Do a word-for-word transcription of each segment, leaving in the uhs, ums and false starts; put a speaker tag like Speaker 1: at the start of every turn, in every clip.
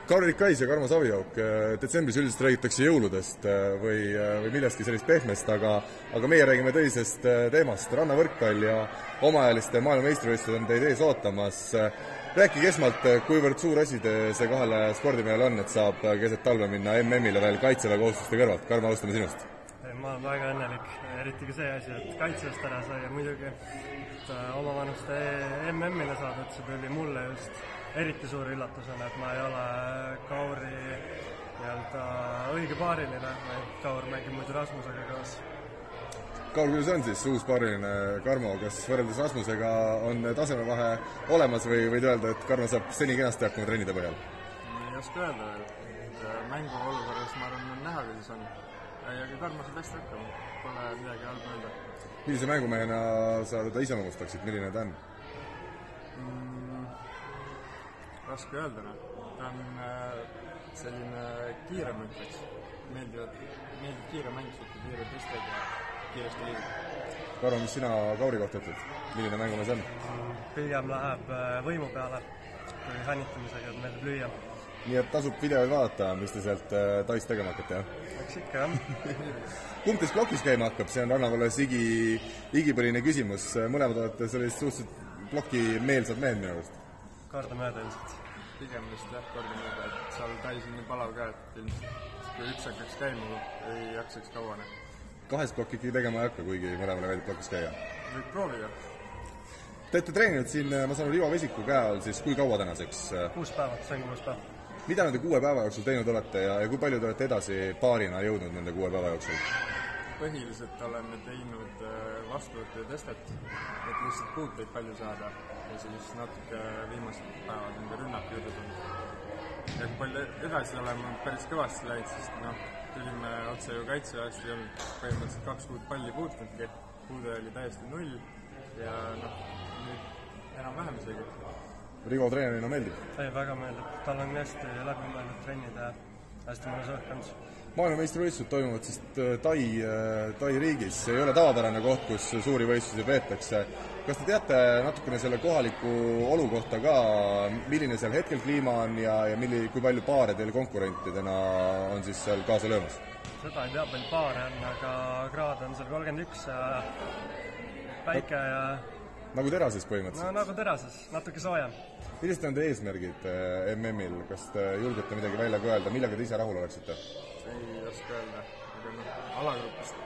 Speaker 1: Kauri Kais ja Karmo Savijook, detsembris üldiselt räägitakse jõuludest või, või millestki sellist pehmest, aga, aga meie räägime tõsisest teemast. Rannavõrkpall ja omaajaliste maailmameistrivõistlused on teid ees ootamas. Rääkige esmalt, kuivõrd suur asi see kahele spordimehele on, et saab keset talve minna M M-ile veel kaitseväe kohustuste kõrvalt. Karmo, alustame sinust.
Speaker 2: Ma olen väga õnnelik, eriti ka see asi, et kaitsest ära sai ja muidugi et oma vanuste M M-ile saada, et see tuli mulle just eriti suur üllatusena, et ma ei ole Kauri nii-öelda õige paariline, vaid Kaur mängib muidu Rasmusega koos.
Speaker 1: Kaur, kuidas on siis uus paariline Karmo, kas võrreldes Rasmusega on tasemevahe olemas või võid öelda, et Karmo saab seni kenasti hakkama trennide põhjal?
Speaker 3: Ei oska öelda veel, et mängu olukorras ma arvan, on näha, kuidas on. Ja ka Karmo saab hästi hakkama, pole midagi halba öelda.
Speaker 1: Millise mängumehena sa teda iseloomustaksid, milline ta on?
Speaker 3: Mm, raske öelda, no. Ta on äh, selline kiire mõtleks. Meeldivad, meeldib kiire mäng, suhtu kiire tõsted ja kiiresti liigub.
Speaker 1: Karmo, mis sina Kauri kohta ütled? Milline mängumees on?
Speaker 2: Pigem läheb võimu peale, kui hännitamisega, et meeldib lüüa.
Speaker 1: Nii et tasub videoid vaadata, mis te sealt tais tegema hakkate, jah?
Speaker 2: Eks ikka, jah.
Speaker 1: Kumb teist plokis käima hakkab? See on rannavalles igi, igipõline küsimus. Mõlemad olete sellist suhteliselt ploki meelsad mehed minu arust.
Speaker 2: Korda mööda ilmselt.
Speaker 3: Pigem vist jah, korda mööda, et seal tais on nii palav ka, et ilmselt kui üks hakkaks käima, ei jaksaks kauane.
Speaker 1: Kahes plokki ikkagi tegema ei hakka, kuigi mõlemale veelib plokis käia?
Speaker 3: Võib proovida.
Speaker 1: Te olete treeninud siin, ma saan Ivo Vesiku käe all, siis kui kaua tänaseks?
Speaker 2: Kuus päeva, see on kuus päeva.
Speaker 1: Mida nende kuue päeva jooksul teinud olete ja, ja kui palju te olete edasi paarina jõudnud nende kuue päeva jooksul?
Speaker 3: Põhiliselt oleme teinud vastuvõttu ja testet, et lihtsalt puuteid palju saada ja siis natuke viimased päevad on ka rünnak juurde tulnud. Ja kui palju edasi oleme päris kõvasti läinud, sest noh, tulime otse ju kaitseväest ja põhimõtteliselt kaks kuud palli puutunudki, puude oli täiesti null ja noh, nüüd enam vähem isegi.
Speaker 1: Rivo treenerina meeldib?
Speaker 2: Ei, väga meeldib. Tal on hästi läbi mõeldud trennid ja hästi mõnus õhkand.
Speaker 1: Maailmameistrivõistlused toimuvad siis Tai, Tai riigis. Ei ole tavapärane koht, kus suuri võistlusi peetakse. Kas te teate natukene selle kohaliku olu kohta ka, milline seal hetkel kliima on ja, ja milli, kui palju paare teil konkurentidena on siis seal kaasa löömas?
Speaker 2: Seda ei tea, palju paare on, aga kraad on seal kolmkümmend üks ja päike ja...
Speaker 1: Nagu terases põhimõtteliselt?
Speaker 2: No nagu terases, natuke soojem.
Speaker 1: Millised on teie eesmärgid M M-il? Kas te julgete midagi välja ka öelda? Millega te ise rahul oleksite?
Speaker 3: Ei oska öelda, aga noh, alagrupist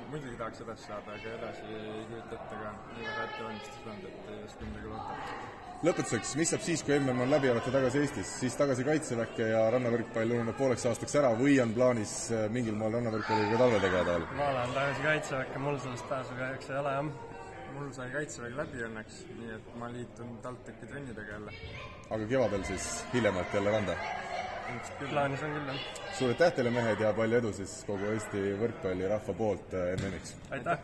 Speaker 3: muidugi tahaks edasi saada, aga edasi ei kujuta ette ka nii väga ette valmistus olnud, et ei oska midagi loota.
Speaker 1: Lõpetuseks, mis saab siis, kui M M on läbi, olete tagasi Eestis, siis tagasi kaitseväkke ja rannavõrkpall ununeb pooleks aastaks ära või on plaanis mingil moel rannavõrkpalliga ka talve tegeleda veel?
Speaker 2: Ma olen tagasi kaitseväkke, mul sellest pääsu kahjuks ei ole, jah.
Speaker 3: Mul sai kaitsevägi läbi õnneks, nii et ma liitun TalTechi trennidega jälle.
Speaker 1: Aga kevadel siis hiljemalt jälle randa?
Speaker 2: Plaanis on küll, jah.
Speaker 1: Suur aitäh teile mehed ja palju edu siis kogu Eesti võrkpalli rahva poolt M M-iks!
Speaker 2: Aitäh!